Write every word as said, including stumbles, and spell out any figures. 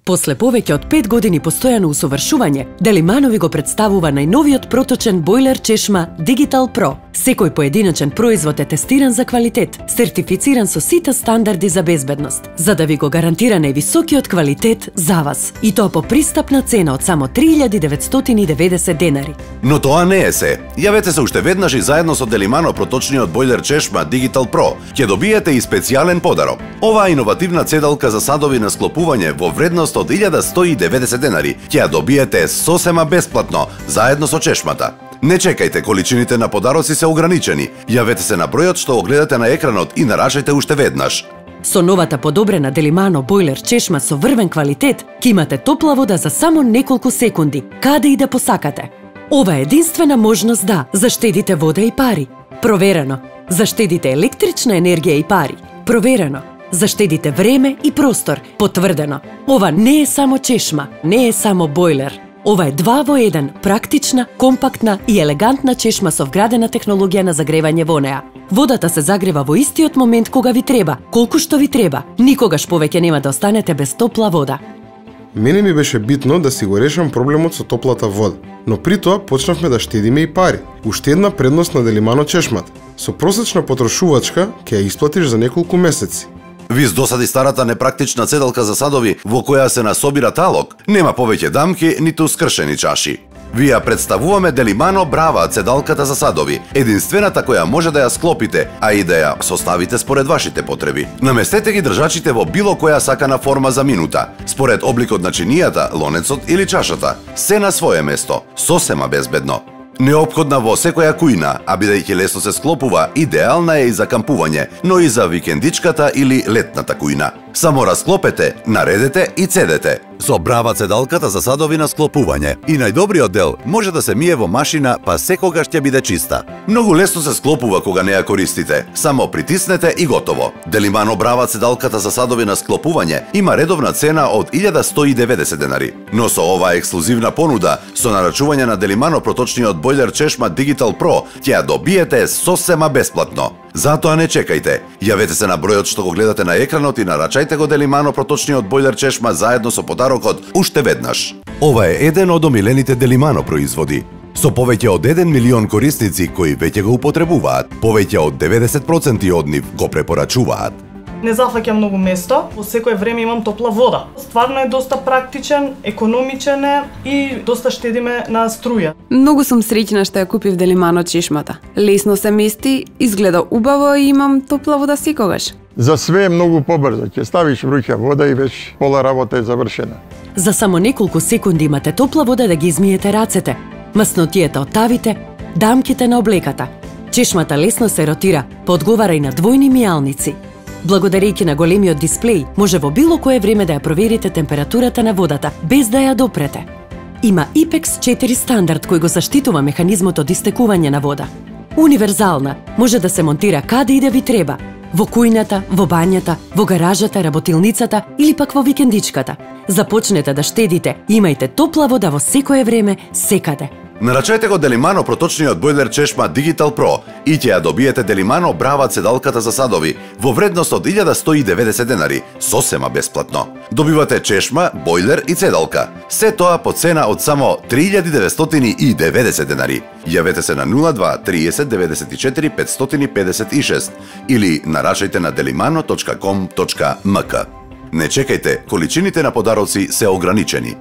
После повеќе од пет години постојано усовршување, Делимано ви го представува најновиот проточен бойлер чешма Digital Pro. Секој поединечен производ е тестиран за квалитет, сертифициран со сите стандарди за безбедност, за да ви го гарантира највисокиот квалитет за вас. И тоа по пристапна цена од само три илјади деветстотини и деветдесет денари. Но тоа не е се. Јавете се уште веднаш и заедно со Делимано проточниот бойлер чешма Digital Pro ќе добиете и специјален подарок. Оваа иновативна цедалка за садови на склопување во вредност од илјада сто и деветдесет денари ќе ја добиете сосема бесплатно, заедно со чешмата. Не чекајте, количините на подароци се ограничени. Јавете се на бројот што го гледате на екранот и нарачајте уште веднаш. Со новата подобрена Делимано бойлер чешма со врвен квалитет, ќе имате топла вода за само неколку секунди, каде и да посакате. Ова е единствена можност да заштедите вода и пари. Проверено. Заштедите електрична енергија и пари. Проверено. Заштедите време и простор. Потврдено. Ова не е само чешма, не е само бойлер. Ова е два во еден, практична, компактна и елегантна чешма со вградена технологија на загревање во неа. Водата се загрева во истиот момент кога ви треба, колку што ви треба. Никогаш повеќе нема да останете без топла вода. Мене ми беше битно да си го решам проблемот со топлата вода, но при тоа почнавме да штедиме и пари. Уште една предност на Делимано чешмата. Со просечна потрошувачка ќе ја исплатиш за неколку месеци. Ви досади старата непрактична цедалка за садови во која се насобира талок, нема повеќе дамки ниту скршени чаши. Ви ја представуваме Делимано Брава цедалката за садови, единствената која може да ја склопите, а и да ја составите според вашите потреби. Наместете ги држачите во било која сакана форма за минута, според обликот на чинијата, лонецот или чашата, се на свое место, сосема безбедно. Неопходна во секоја кујна, а бидејќи лесно се склопува, идеална е и за кампување, но и за викендичката или летната кујна. Само расклопете, наредете и цедете. Со Брава цедалката за садови на склопување. И најдобриот дел може да се мие во машина, па секогаш ќе биде чиста. Многу лесно се склопува кога не ја користите. Само притиснете и готово. Делимано Брава цедалката за садови на склопување има редовна цена од илјада сто и деветдесет денари. Но со оваа ексклузивна понуда, со нарачување на Делимано проточниот бойлер чешма Digital Pro, ќе ја добиете сосема бесплатно. Затоа не чекајте. Јавете се на бројот што го гледате на екранот и нарачајте го Делимано проточниот бойлер чешма заедно со подарокот уште веднаш. Ова е еден од омилените Делимано производи. Со повеќе од еден милион корисници кои веќе го употребуваат, повеќе од деветдесет проценти од нив го препорачуваат. Не зафаќа многу место, во секое време имам топла вода. Стварно е доста практичен, економичен е и доста штедиме на струја. Многу сум среќна што ја купив Делимано чешмата. Лесно се мести, изгледа убаво и имам топла вода секогаш. За све е многу побрзо, ќе ставиш вруќа вода и веќе пола работа е завршена. За само неколку секунди имате топла вода да ги измиете рацете, маснотијата од тавите, дамките на облеката. Чешмата лесно се ротира, подговара и на двојни мијалници. Благодарејќи на големиот дисплеј, може во било кое време да ја проверите температурата на водата, без да ја допрете. Има и пекс четири стандард кој го заштитува механизмот од истекување на вода. Универзална, може да се монтира каде и да ви треба, во кујната, во бањата, во гаражата, работилницата или пак во викендичката. Започнете да штедите, имајте топла вода во секое време, секаде. Нарачајте го Делимано проточниот бойлер чешма Digital Pro и ќе ја добиете Делимано Брава цедалката за садови во вредност од илјада сто и деветдесет денари, сосема бесплатно. Добивате чешма, бойлер и цедалка. Се тоа по цена од само три илјади деветстотини и деветдесет денари. Јавете се на нула два триесет деветдесет и четири петстотини педесет и шест или нарачајте на деlimano точка ком точка ем ка. Не чекајте, количините на подароци се ограничени.